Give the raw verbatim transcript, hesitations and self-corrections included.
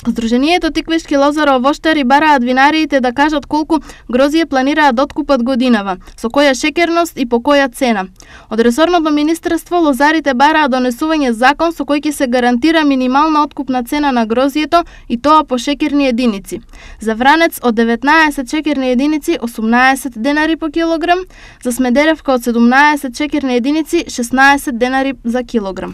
Здруженијето Тиквишки лозаро воштари бараат винариите да кажат колку грозје планираат да откупат годинава, со која шеќерност и по која цена. Од ресорното министерство лозарите бараат донесување закон со кој ќе се гарантира минимална откупна цена на грозјето и тоа по шеќерни единици. За вранец од деветнаесет шеќерни единици осумнаесет денари по килограм, за Смедеревка од седумнаесет шеќерни единици шеснаесет денари за килограм.